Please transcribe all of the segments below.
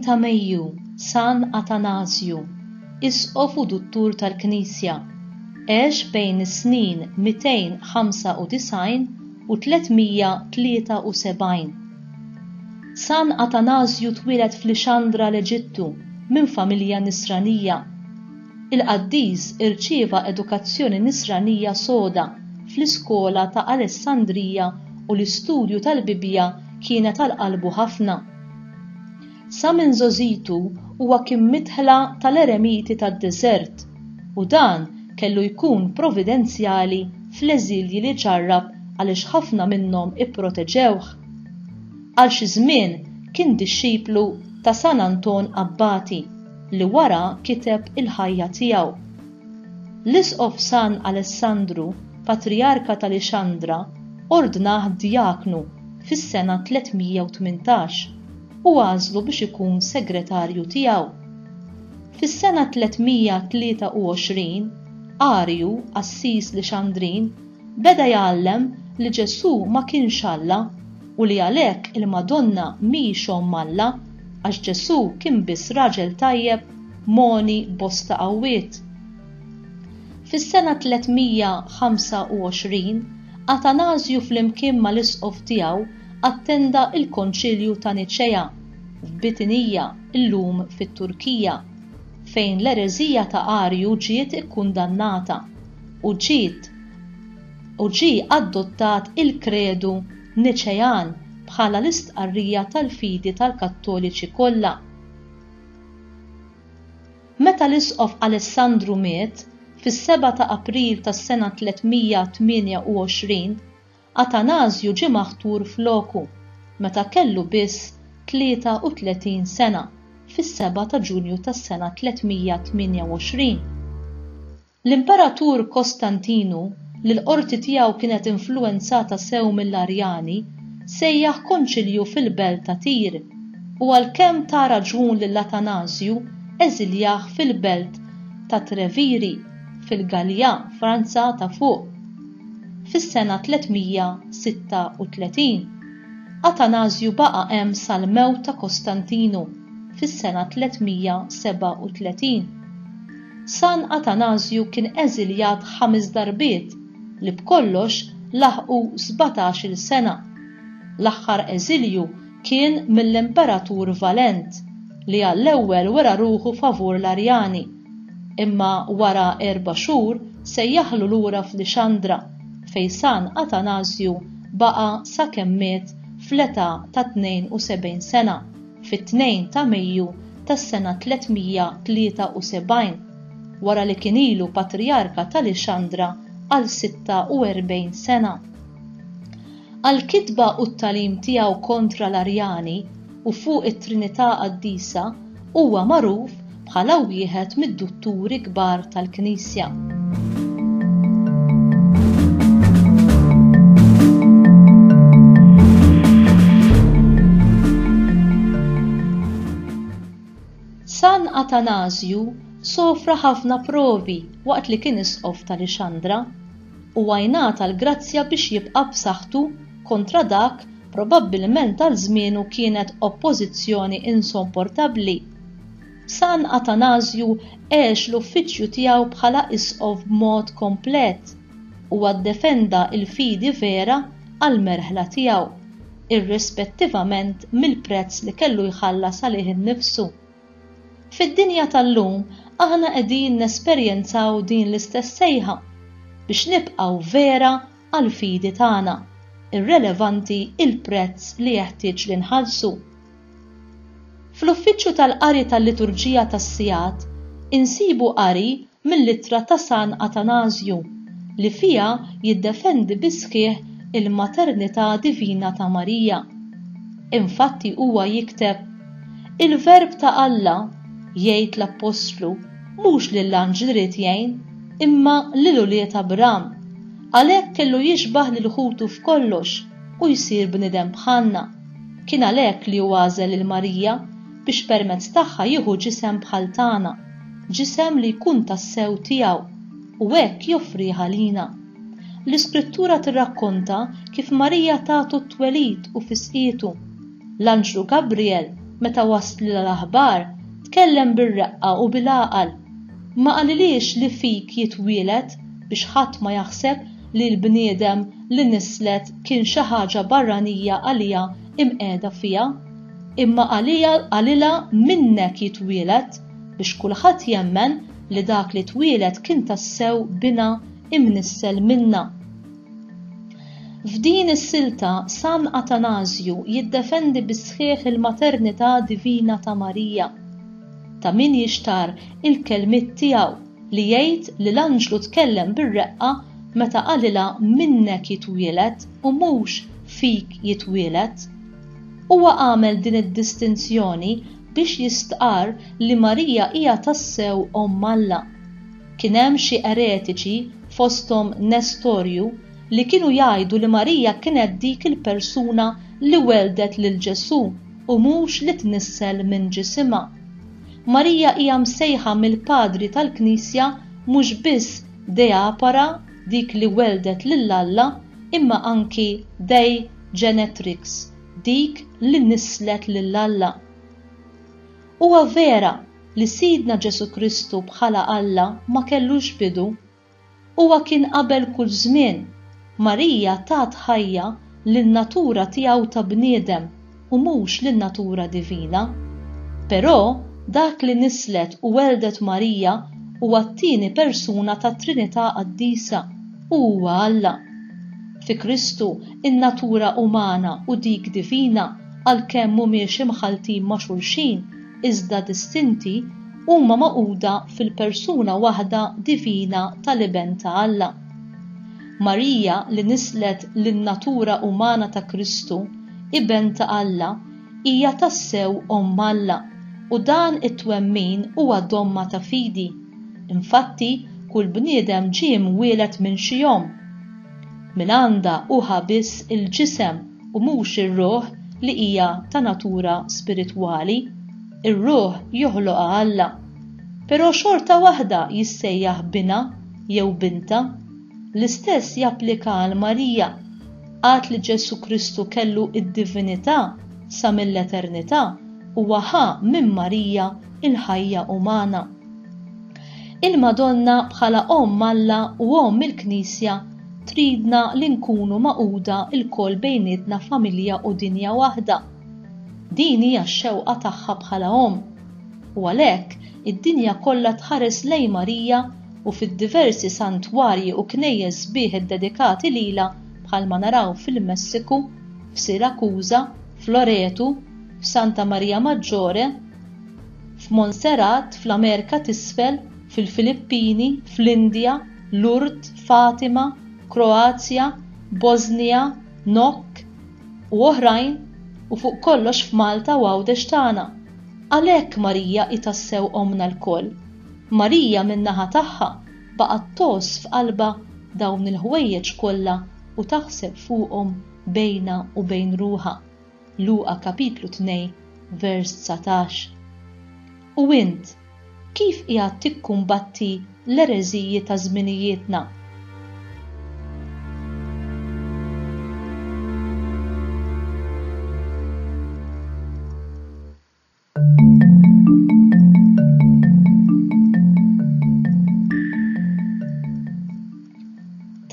ta' Mejju, San Atanasju, Isqof u Duttur tal-Knisja, għex bejn is-snin 295 u 373. San Atanasju twieled f'Lixandra l-Eġittu minn familja Nisranija. Il-qaddis irċieva edukazzjoni Nisranija soda fl-iskola ta' Alessandrija u l-istudju tal-Bibbja kienet għal qalbu ħafna. Sa minn żgħożitu huwa kien midħla tal-eremiti tad-deżert u dan kellu jkun providenzjali fl-eżilji li ġarrab għaliex ħafna minnhom ipproteġewh. Għal xi żmien kien dixxiplu ta' San Anton Abbati li wara kiteb il-ħajja tiegħu. L-Isqof San Alessandru, Patrijarka ta' Lixandra, ordnah djaknu fis-sena 318 u għażlu biex ikun segretarju tiegħu. Fis-sena 323, Arju, qassis Lixandrin, beda jgħallem li Ġesù ma kienx Alla u li għalhekk il-Madonna mhix Omm Alla għax Ġesù kien biss raġel tajjeb mogħni bosta qawwiet. Fis-sena 325, Atanasju flimkien mal-isqof tiegħu attenda l-Konċilju ta' Niċea, f'Bitinija, illum fit-Turkija, fejn l-ereżija ta' Arju ġiet ikkundannata u ġiet u ġie adottat il-Kredu Niċean bħala l-istqarrija tal-fidi tal-Kattoliċi kollha. Meta l-Isqof Alessandru miet, fis-sebgħa ta' April tas-sena 328, Atanasju ġie maħtur floku, meta kellu biss 33 sena, fis-sebgħa ta' Ġunju tas-sena 328. L-Imperatur Kostantinu, li l-qorti tiegħu kienet influwenzata sew mill-Arjani, sejjaħ konċilju fil-belt ta' Tir, u għalkemm ta raġun lil Atanasju, eżiljah fil-belt ta' Treviri, fil-Gallja, Franza ta' Fuq, fis-sena 336. Atanasju baqa' hemm sal-mewt ta' Kostantinu fis-sena 337. San Atanasju kien eżiljat ħames darbiet li b'kollox laħqu sbatax-il sena. L-aħħar eżilju kien mill-Imperatur Valent li għall-ewwel wera ruħu favur l-Arjani, imma wara erba' xhur sejjaħlu lura f'Lixandra fejn San Atanasju baqa' sakemm miet fl-età ta' 72 sena. fit-2 ta' Mejju tas-sena 373, wara li kien ilu Patrijarka ta' Lixandra għal 46 sena. Għall-kitba u t-tagħlim tiegħu kontra l-Arjani u fuq it-Trinità Qaddisa huwa magħruf bħala wieħed mid-dutturi kbar tal-Knisja. San Atanasju sofra ħafna provi waqt li kien isqof ta' Lixandra. Huwa jngħata l-grazzja biex jibqa' b'saħħtu kontra dak probabbilment għal żmienu kienet oppożizzjoni insopportabbli. San Atanasju għex l-uffiċċju tiegħu bħala isqof b'mod komplet. Huwa ddefenda l-fidi vera għall-merħla tiegħu, irrispettivament mill-prezz li kellu jħallas għalih innifsu. Fid-dinja tal-lum aħna qegħdin nesperjenzaw din l-istess sejħa biex nibqgħu vera għall-fidi tagħna, irrelevanti l-prezz li jeħtieġ li nħallsu. Fl-Uffiċċju tal-Qari tal-Liturġija tas-Sigħat insibu qari mill-ittra ta' San Atanasju li fiha jiddefendi bis-sħiħ il-maternità divina ta' Marija. Infatti huwa jikteb, Il-Verb ta' Alla, jgħid l-Appostlu, mhux lill-anġli ried jgħin, imma lil ulied Abram. Għalhekk kellu jixbah lil ħutu f'kollox u jsir bniedem bħalna. Kien għalhekk li hu għażel lil Marija biex permezz tagħha jieħu ġisem bħal tagħna, ġisem li jkun tassew tiegħu, u hekk joffrih għalina. L-Iskrittura tirrakkonta kif Marija tatu t-twelid u fisqietu. L-anġlu Gabriel Meta waslilha l-aħbar, tkellem bir-reqqa u bil-għaqal. Ma qalilhiex li fik jitwieled biex ħadd ma jaħseb li l-bniedem li nisslet kien xi ħaġa barranija għaliha imqiegħda fiha, imma qalilha minnek jitwieled biex kulħadd jemmen li dak li twieled kien tassew binha imnissel minnha. F'din is-silta San Atanasju jiddefendi bis-sħiħ il-maternità divina ta' Marija. Ta' min jixtarr il-kelmiet tiegħu li jgħid li l-anġlu tkellem bir-reqqa meta qalilha minnek jitwieled u mhux fik jitwieled. Huwa għamel din id-distinzjoni biex jistqarr li Marija hija tassew Omm Alla. Kien hemm xi eretiċi, fosthom Nestorju, li kienu jgħidu li Marija kienet dik il-persuna li welldet lil Ġesù u mhux li tnissel minn ġisimha. Marija hija msejħa mill-Padri tal-Knisja mhux biss Deapara, dik li welldet lil Alla, imma anki Dei Genetrix, dik li nisslet lil Alla. Huwa vera li Sidna Ġesù Kristu bħala Alla ma kellux bidu. Huwa kien qabel kull żmien. Marija tat ħajja lin-natura tiegħu ta' bniedem u mhux lin-natura divina. Però dak li nisslet u welldet Marija huwa t-tieni persuna tat-Trinità Qaddisa u huwa Alla. Fi Kristu in-natura umana u dik divina għalkemm mhumiex imħalltin ma' xulxin, iżda distinti, huma magħquda fil-persuna waħda divina tal-Iben ta' Alla. Marija li nisslet lin-natura umana ta' Kristu, Iben ta' Alla, hija tassew Omm Alla, u dan it-twemmin huwa domma ta' fidi. Infatti, kull bniedem ġie mwieled minn xi omm. Minn għandha hu ħa biss il-ġisem u mhux ir-ruħ li hija ta' natura spiritwali. Ir-ruħ joħloqha Alla. Però xorta waħda jissejjaħ binha jew bintha. L-istess japplika għal Marija. Għad li Ġesù Kristu kellu d-divinità sa mill-eternità, huwa ħa minn Marija l-ħajja umana. Il-Madonna bħala Omm Alla u Omm il-Knisja tridna li nkunu magħquda lkoll bejnietna familja u dinja waħda. Din hija x-xewqa tagħha bħala omm. U għalhekk id-dinja kollha tħares lejn Marija u fid-diversi santwarji u knejjes sbieħ iddedikati lilha bħalma naraw fil-Messiku, f'Sirakuża, f'Loretu, f'Santa Maria Maggiore, f'Montserrat, fl-Amerika t'Isfel, fil-Filippini, fl-Indja, Lourdes, Fatima, Kroazja, Bosnija, Nok, u oħrajn, u fuq kollox f'Malta u Għawdex tagħna. Għalhekk Marija hi tassew Ommna lkoll. Marija min-naħa tagħha baqgħet tgħożż f'qalbha dawn il-ħwejjeġ kollha u taħseb fuqhom bejnha u bejn ruħha. Luqa kapitlu 2 vers 19. U int, kif qiegħed tikkumbatti l-ereżiji ta' żminijietna?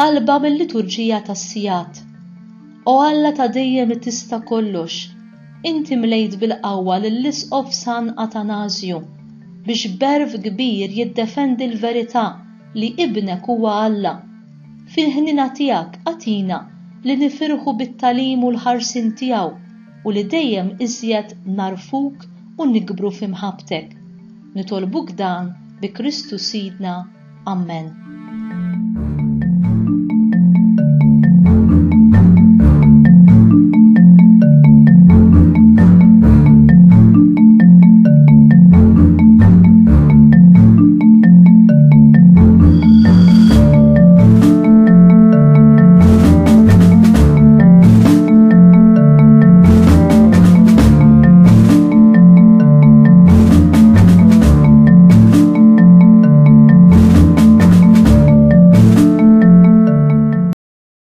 Talba mill-Liturġija tas-Sigħat. O Alla ta' dejjem li tista' kollox, inti mlejt bil-qawwa lill-Isqof San Atanasju biex b'għerf kbir jiddefendi l-verità li Ibnek huwa Alla. Fil-ħniena tiegħek agħtina li nifirħu bit-tagħlim u l-ħarsien tiegħu u li dejjem iżjed nagħrfuk u nikbru fi mħabbtek. Nitolbuk dan bi Kristu Sidna. Ammen.